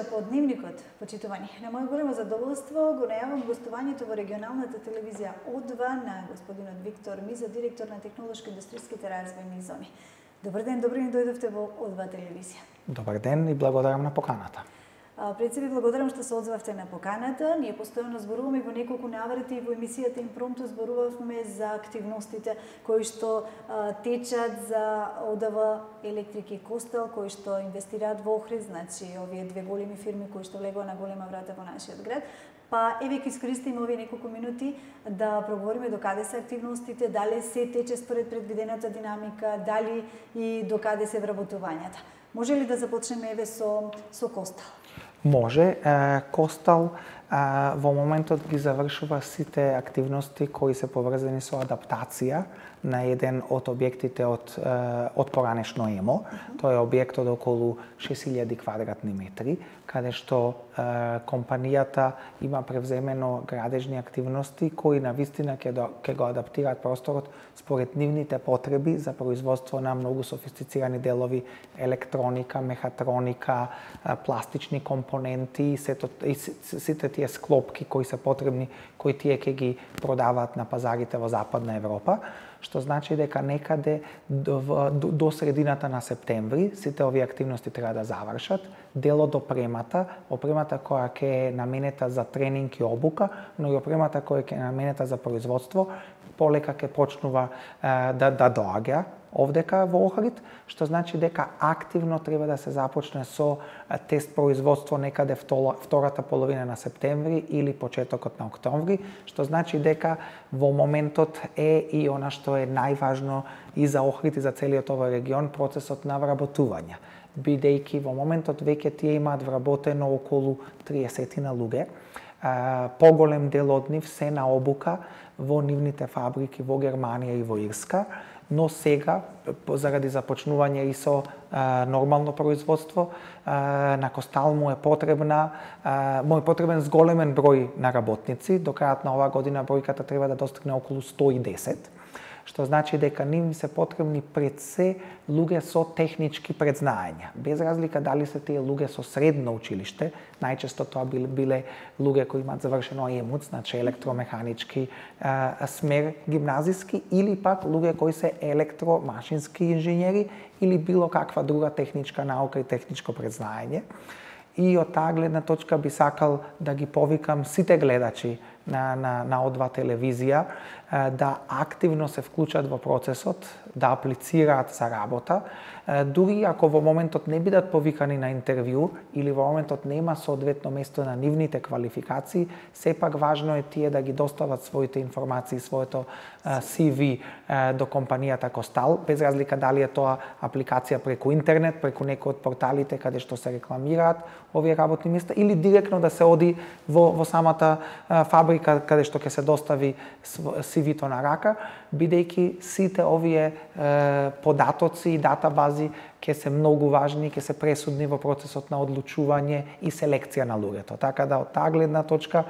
вечер по Дневникот, почитувани. На моје големо задоволство го најавам гостувањето во регионалната телевизија О2 на господинот Виктор Миза, директор на технолошко-индустријските развојни зони. Добар ден, добро ни дојдовте во О2 телевизија. Добар ден и благодарам на поканата. Пред се ви благодарам што се одзвавте на поканата. Ние постојано зборуваме во неколку наврати и во емисијата Импромту зборувавме за активностите кои што течат за ОДВ Електрик и Костел, кои што инвестираат во Охрид, значи овие две големи фирми кои што влегува на голема врата во нашиот град. Па еве ќе искористиме овие неколку минути да проговориме докаде се активностите, дали се тече според предвидената динамика, дали и докаде се вработувањата. Може ли да започнеме еве со Костел? Може. Костел во моментот ги завршува сите активности кои се поврзани со адаптација на еден од објектите од поранешно ЕМО. Тоа е објектот околу 6000 квадратни метри, каде што компанијата има превземено градежни активности кои навистина ќе го адаптираат просторот според нивните потреби за производство на многу софистицирани делови, електроника, мехатроника, пластични компоненти, сите тие склопки кои се потребни, кои тие ќе ги продаваат на пазарите во Западна Европа, што значи дека некаде до средината на септември сите овие активности треба да завршат. Дел од опремата која ќе е наменета за тренинг и обука, но и опремата која ќе е наменета за производство, полека ќе почнува да доаѓа овдека во Охрид, што значи дека активно треба да се започне со тест производство некаде втората половина на септември или почетокот на октомври, што значи дека во моментот е и она што е најважно и за Охрид и за целиот овој регион, процесот на вработување. Бидејќи во моментот веќе тие имаат вработено околу 30 луѓе, поголем дел од нив се на обука во нивните фабрики во Германија и во Ирска, но сега, заради започнување и со нормално производство, на Костел му е потребен зголемен број на работници. До крајот на оваа година бројката треба да достигне околу 110, што значи дека нив се потребни пред се луѓе со технички предзнаења. Без разлика дали се тие луѓе со средно училиште, најчесто тоа биле луѓе кои имаат завршено ЕМУЦ, значи електромеханички смер гимназиски, или пак луѓе кои се електромашински инженери или било каква друга техничка наука и техничко предзнаење. И од таа гледна точка би сакал да ги повикам сите гледачи на О2 телевизија да активно се вклучат во процесот, да аплицираат за работа, дури ако во моментот не бидат повикани на интервју или во моментот нема соодветно место на нивните квалификации, сепак важно е тие да ги достават своите информации, своето CV до компанијата Костел, без разлика дали е тоа апликација преку интернет, преку некој од порталите каде што се рекламираат овие работни места, или директно да се оди во самата фабрика каде што ќе се достави CV-то на рака, бидејќи сите овие податоци и датабази ќе се многу важни, ќе се пресудни во процесот на одлучување и селекција на луѓето. Така да од таа гледна точка,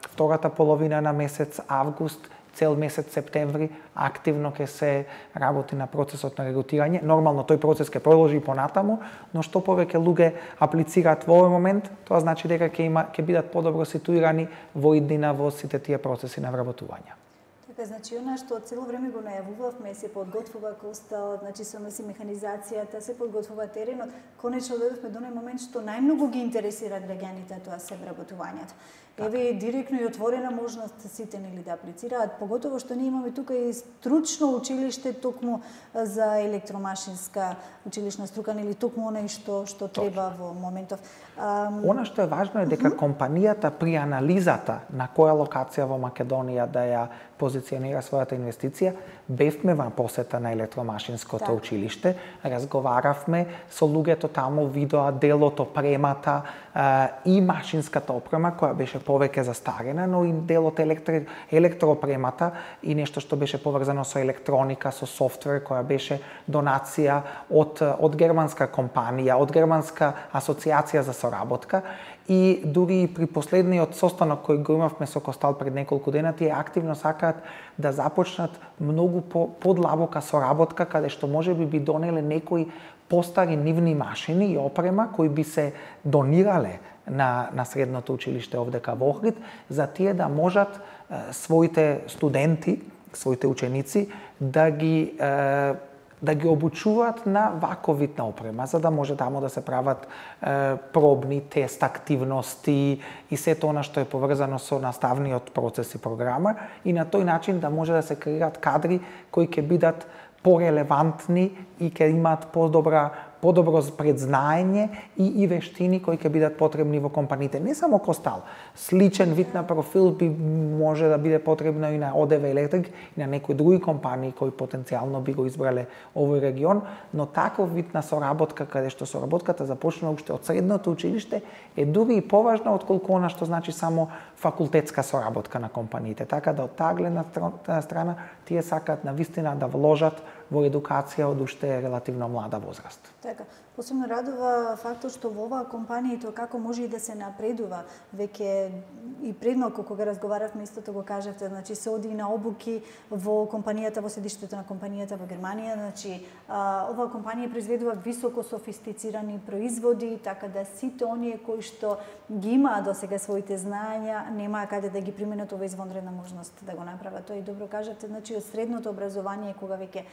втората половина на месец август, цел месец септември, активно ќе се работи на процесот на регрутирање. Нормално тој процес ќе продолжи и понатаму, но што повеќе луѓе аплицираат во овој момент, тоа значи дека ќе бидат подобро ситуирани во иднина во сите тие процеси на вработување. Така, значи, она што цело време го најавувавме, се подготвува Костел, значи со механизацијата, се подготвува теренот, конечно дојдовме до оној момент што најмногу ги интересира граѓаните, тоа се вработувањето. Еве директно и отворена можност сите нели да аплицираат, поготово што ние имаме тука и стручно училиште токму за електромашинска училишна струка, нели токму онај што треба во моментов. Она што е важно е дека компанијата при анализата на која локација во Македонија да ја позиционира својата инвестиција, бевме во посета на електромашинското училиште, разговаравме со луѓето таму, видоа делот, опремата и машинската опрема која беше повеќе застарена, но и делот електроопремата и нешто што беше поврзано со електроника, со софтвер, која беше донација од германска компанија, од германска асоциација за соработка, и дури и при последниот состанок кој го имавме со Костал пред неколку дена, тие активно сакаат да започнат многу подлабока соработка, каде што можеби би донеле некои постари нивни машини и опрема кои би се донирале на средното училиште овдека во Охрид, за тие да можат своите студенти, своите ученици да ги обучуваат на ваков вид на опрема, за да може таму да се прават пробни, тест, активности и сето она што е поврзано со наставниот процес и програма, и на тој начин да може да се креират кадри кои ќе бидат порелевантни и ќе имаат подобро предзнаење и вештини кои ќе бидат потребни во компаниите. Не само Костал, сличен вид на профил би може да биде потребно и на ОДВ Електрик и на некои други компании кои потенцијално би го избрале овој регион, но таков вид на соработка, каде што соработката започнува уште од средното училиште, е дури и поважна отколку она што значи само факултетска соработка на компаниите. Така да од таа гледна страна тие сакаат навистина да вложат во едукација од уште релативно млада возраст. Така, посебно радува фактот што во оваа компанија тоа како може и да се напредува. Веќе и предмалку кога разговаравме истото го кажавте, значи се оди на обуки во компанијата, во седиштето на компанијата во Германија, значи оваа компанија произведува високо софистицирани производи, така да сите оние кои што ги имаат досега своите знаења немаа каде да ги применат ова извонредна можност да го направат. Тоа и добро кажавте, значи од средното образование кога веќе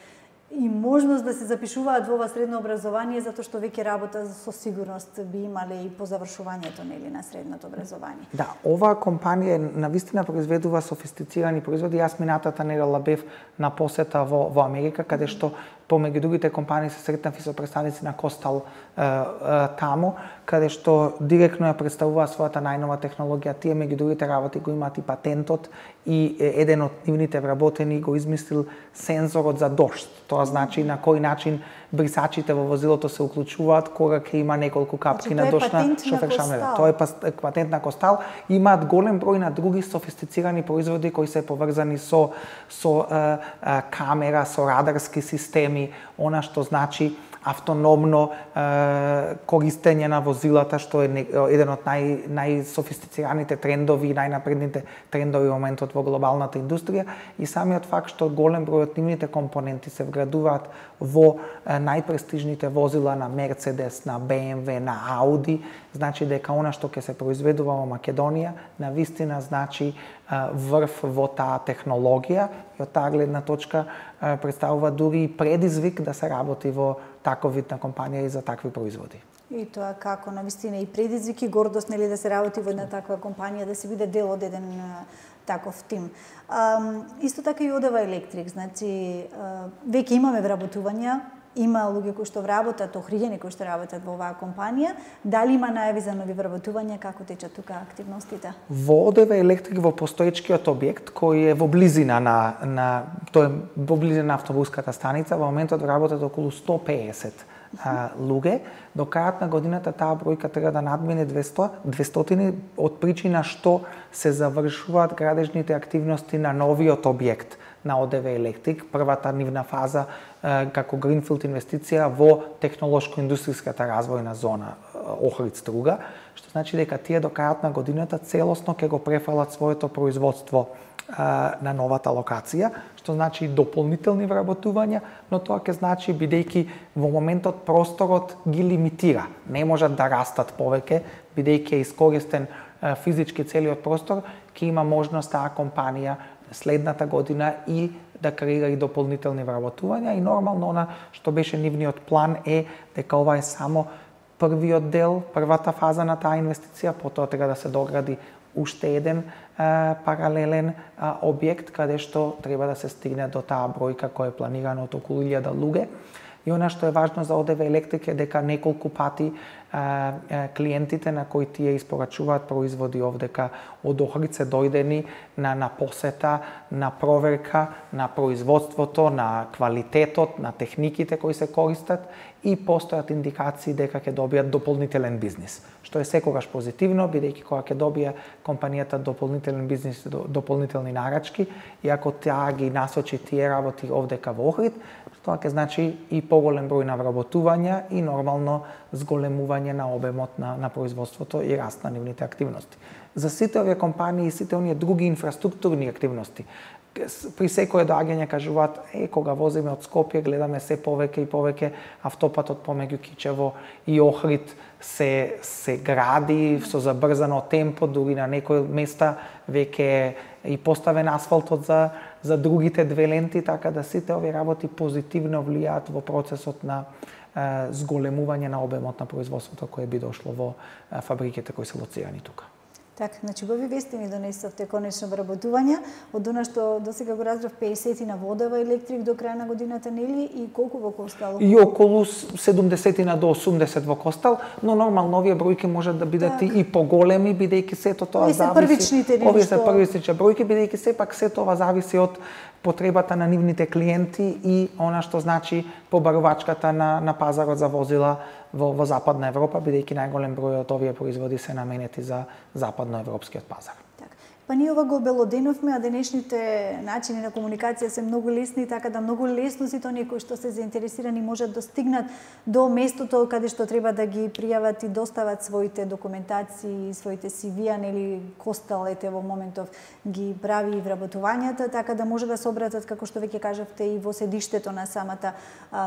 и можност да се запишуваат во ова средно образование, затоа што веќе работа со сигурност би имале и по завршувањето нели на средното образование. Да, оваа компанија навистина произведува софистицирани производи. Јас минатата недела бев на посета во Америка, каде што помеѓу другите компании се сретнав и со представници на Костал таму, каде што директно ја представува својата најнова технологија. Тие меѓу другите работи го имаат и патентот и еден од нивните вработени го измислил сензорот за дожд. Тоа значи на кој начин брисачите во возилото се уклучуваат кога ќе има неколку капки на дожд на шофер шамера. Тоа е патент на Костал. Имаат голем број на други софистицирани производи кои се поврзани со камера, со радарски системи, она што значи автономно користење на возилата, што е еден од најсофистицираните трендови и најнапредните трендови во моментот во глобалната индустрија, и самиот факт што голем број од нивните компоненти се вградуваат во најпрестижните возила на Мерцедес, на БМВ, на Ауди, значи дека она што ќе се произведува во Македонија навистина значи врв во таа технологија, и од таа гледна точка представува дури и предизвик да се работи во таков вид на компанија и за такви производи. И тоа како навистина и предизвик и гордост нели да се работи во една таква компанија, да се биде дел од еден таков тим. Исто така и ОДВ Електрик, значи веќе имаме вработувања, има луѓе кои што вработат, охриѓани кои што работат во оваа компанија. Дали има најави за нови вработувања, како течат тука активностите? Во ОДВ Електрик во постоечкиот објект кој е во близина тој е во близина на автобуската станица, во моментот вработат околу 150 луѓе. До крајот на годината таа бројка треба да надмине 200 од причина што се завршуваат градежните активности на новиот објект на ОДВ Електрик, првата нивна фаза како гринфилд инвестиција во технолошко-индустријската развојна зона Охрид-Струга, што значи дека тие до крајот на годината целосно ќе го префалат своето производство на новата локација, што значи дополнителни вработувања, но тоа ќе значи бидејќи во моментот просторот ги лимитира. Не можат да растат повеќе, бидејќи е искористен физички целиот простор, ќе има можност таа компанија следната година и да креира и дополнителни вработувања, и нормално она што беше нивниот план е дека ова е само првиот дел, првата фаза на таа инвестиција, потоа треба да се догради уште еден паралелен објект каде што треба да се стигне до таа бројка која е планирана од околу 1000 луѓе. И она што е важно за ОДВ Електрик е дека неколку пати клиентите на кои тие испорачуваат производи овдека од Охрид се дојдени на посета, на проверка на производството, на квалитетот, на техниките кои се користат, и постојат индикации дека ќе добијат дополнителен бизнис, што е секогаш позитивно, бидејќи кога ќе добие компанијата дополнителен бизнис, дополнителни нарачки, и ако таа ги насочи тие работи овдека во Охрид, тоа ќе значи и поголем број на вработувања и нормално зголемување на обемот на производството и раст на нивните активности. За сите овие компании и сите оние други инфраструктурни активности, при секое доаѓање кажуваат, кога возиме од Скопје, гледаме се повеќе и повеќе автопатот помеѓу Кичево и Охрид се гради со забрзано темпо, дури на некои места веќе и поставен асфалтот за другите две ленти, така да сите овие работи позитивно влијаат во процесот на зголемување на обемот на производството кое би дошло во фабриките кои се лоцирани тука. Така, значи убави вести ни донесовте конечно вработувања, од она што досега го разбрав 50 на водева електрик до крај на годината, нели, и колку во Костал? И околу 70 до 80 во Костал, но нормално овие бројки можат да бидат и поголеми, бидејќи сето тоа зависи. Овие се првичните бројки, бидејќи сепак сето ова зависи од потребата на нивните клиенти и она што значи побарувачката на пазарот за возила во Западна Европа, бидејќи најголем број од овие производи се наменети за западноевропскиот пазар. Па ние ова го обелоденовме, а денешните начини на комуникација се многу лесни, така да многу лесно сите оние кои што се заинтересирани можат да стигнат до местото каде што треба да ги пријават и достават своите документации, своите CV-а, нели Костал ете во моментов ги прави и вработувањата, така да може да се обратат, како што веќе кажавте, и во седиштето на самата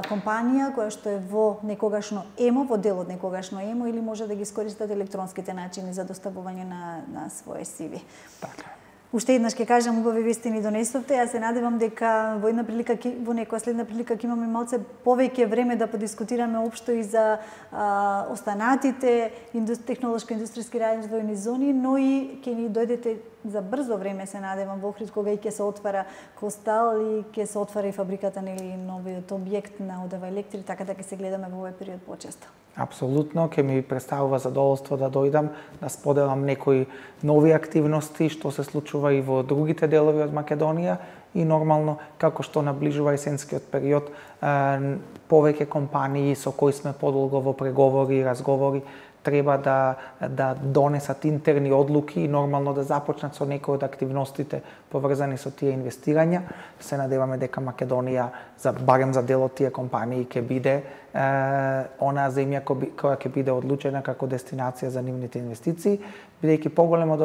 компанија, која што е во некогашно ЕМО, во дел од некогашно ЕМО, или може да ги искористат електронските начини за доставување на своje CV. Уште еднаш ќе кажам, убави вести ни донесовте. Јас се надевам дека во една прилика, во некоја следна прилика ќе имаме малце повеќе време да подискутираме општо и за останатите технолошко-индустријски развојни зони, но и ќе ни дојдете за брзо време, се надевам, во Охрид, кога и ќе се отвара Костал и ќе се отвара и фабриката, нели, новиот објект на Одева Електрик, така да ќе се гледаме во овој период почесто. Апсолутно, ќе ми представува задоволство да дојдам, да споделам некои нови активности што се случува и во другите делови од Македонија и нормално, како што наближува есенскиот период, повеќе компании со кои сме подолго во преговори и разговори треба да донесат интерни одлуки и нормално да започнат со некои од активностите поврзани со тие инвестирања. Се надеваме дека Македонија, барем за дел од тие компании, ќе биде онаа земја која ќе биде одлучена како дестинација за нивните инвестиции, бидејќи поголем од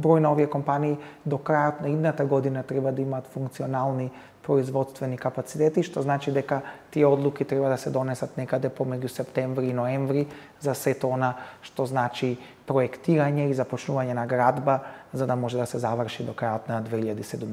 број на овие компании до крајот на идната година треба да имаат функционални производствени капацитети, што значи дека тие одлуки треба да се донесат некаде помеѓу септември и ноември за сето она што значи проектирање и започнување на градба, за да може да се заврши до крајот на 2017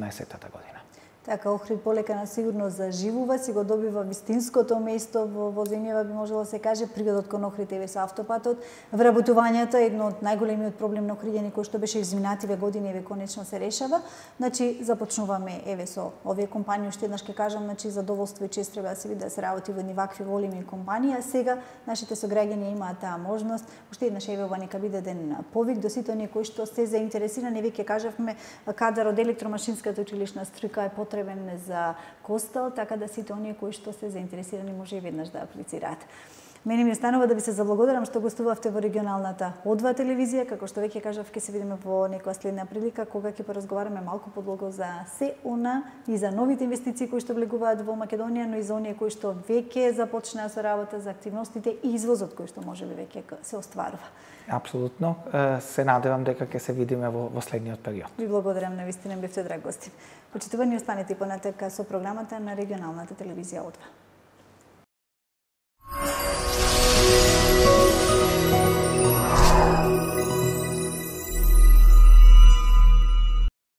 година. Така, Охрид полека на сигурно заживува, си го добива вистинското место во земјава, би можело да се каже, пригодот кон Охрид еве со автопатот. Вработувањата е едно од најголемиот проблем на Охридјани кој што беше изминативе години, еве конечно се решава. Значи започнуваме еве со овие компании, уште еднаш ќе кажам, значи задоволство и чест треба да се види да се работи во едни вакви големи компании, а сега нашите сограѓани имаат таа можност. Уште еднаш еве ова нека биде ден повик до сите оние кои што се заинтересирани, веќе кажавме, кадар од електромашинската училишна струка е потребен за Костал, така да сите оние кои што се заинтересирани може и веднаш да аплицираат. Мене ми останува да ви се заблагодарам што гостувавте во регионалната О2 телевизија, како што веќе кажав, ќе се видиме во некоја следна прилика кога ќе поразговараме малку подлого за се она и за новите инвестиции кои што влегуваат во Македонија, но и за оние кои што веќе започнаа со работа, за активностите и извозот кој што можеби веќе се остварува. Апсолутно, се надевам дека ќе се видиме во следниот период. Ви благодарам, навистина бевте драг гости. Почитувани, останете понатака со програмата на регионалната телевизија О2.